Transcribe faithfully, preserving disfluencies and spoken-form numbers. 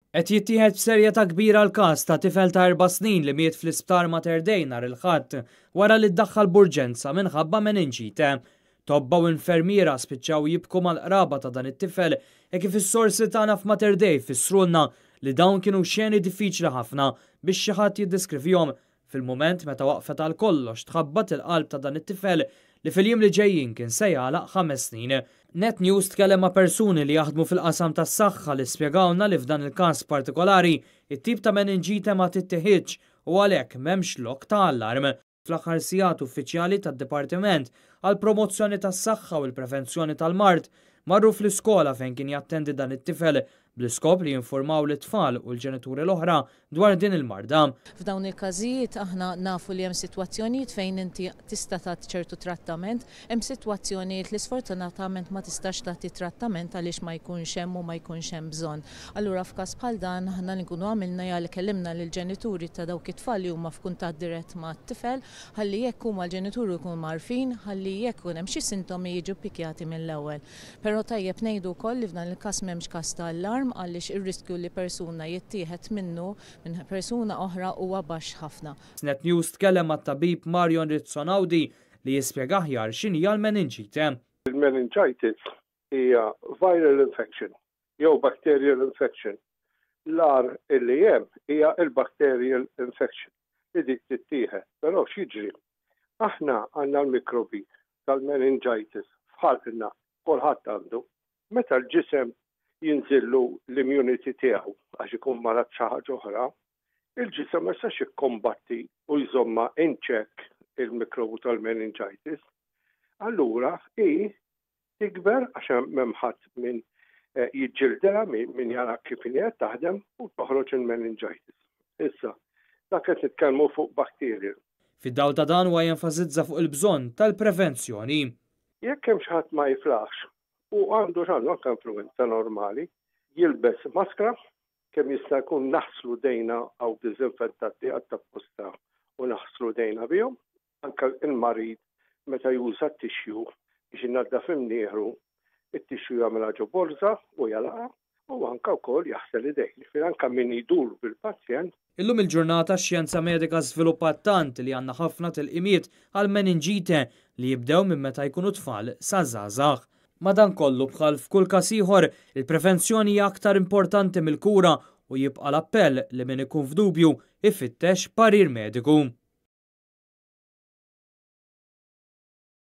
Qed jittieħed b'serjetà kbira l-każ ta' tifel ta' erba' snin li miet fl-isptar Mater Dei nhar il-Ħadd wara li ddaħħal b'urġenza minħabba meninġite. Tobba u infermiera spiċċaw jibku mal-qraba ta' dan it-tifel e kif is-sorsi tagħna f'Mater Dei fissrulna li dawn kienu xeni diffiċli ħafna biex xi ħadd jiddeskrivihom fil-mument meta waqfet għal kollox tħabbat il-qalb ta' dan it-tifel li fil-jiem li ġejjin kien se jagħlaq ħames snin. Net News tkellem ma' persuni li jaħdmu fil-qasam tas-saħħa li spjegawna li f'dan il-każ partikolari it-tip ta' meninġite ma tittieħidx u għalhekk m'hemmx lok ta' allarm. Fl-aħħar sigħat, uffiċjali tad-Dipartiment għal Promozzjoni tas-Saħħa u l-Prevenzjoni tal-Mard marru fl-iskola fejn kien jattendi dan it-tifel bl-iskop li jinformaw l-tfal u l-ġenituri l-oħra dwar din il-marda. F'dawn il-każijiet aħna nafu li hemm sitwazzjonijiet fejn inti tista' tagħti ċertu trattament, hemm sitwazzjonijiet li sfortunatament ma tistax tagħti trattament għaliex ma jkunx hemm u ma jkunx hemm bżonn. Allura f'każ bħal dan, aħna li nkunu għamilna hija li kellimna lill-ġenituri ta' dawk it-tfal li huma f'kuntatt dirett mat-tifel, ħalli jekk huma l-ġenituri jkunu mgħarrfin, ħalli jekk ikun hemm xi sintomi jiġu ppikjati mill-ewwel. Però tajjeb ngħidu wkoll li f'dan il-każ m'hemmx każ ta' allarm, għaliex ir-riskju li persuna jittieħed minnu minn persuna oħra huwa baxx ħafna. Net News tkellem mat-tabib Marion Rizzonaudi li jispjega aħjar x'inhi l-meninġite. Il-meningitis hija viral infection jew bacterial infection. L-agħar illi hemm hija il-bacterial infection li dik tittieħed, però x'jiġri? Aħna għandna l-mikrobi tal-meningitis f'ħalqna, kulħadd għandu. Meta l-ġisem jinżillu l-immunity tiegħu għax ikun marad xi ħaġa oħra, il-ġisem ma jistax jikkombatti u jżomma in check il-mikrobu tal-meningitis. Allura hi tikber għax m'hemm ħadd min eh, jiġġildilha, min jara kif qed taħdem, u toħroġ il-meningitis. Issa, dak qed nitkellmu fuq bakterji. Fid-dawl ta' dan, huwa jenfasizza fuq il-bżonn tal-prevenzjoni. Jekk hemm xi ħadd ma jiflaħx u għandu x'għandu, anke influenza normali, jilbes maskra, kemm jista' jkun naħslu jdejna, hawn diżinfettanti apposta u naħslu jdejna bihom, anke il-marid meta juża t-tissue biex inaddaf imnieħru, it-tissue jagħmilha ġo borza u jagħlaqha, u anka wkoll jaħsel idejh. Ġifieri anka min idur bil-pazjent. Illum il-ġurnata x-xjenza medika żviluppat tant li għandna ħafna tilqimiet għal meninġite li jibdew minn meta jkunu tfal sa żgħażagħ. Madankollu, bħal f'kull każ ieħor, il-prevenzjoni hija aktar importanti mill-kura u jibqa' l-appell li min ikun f'dubju ifittex parir mediku.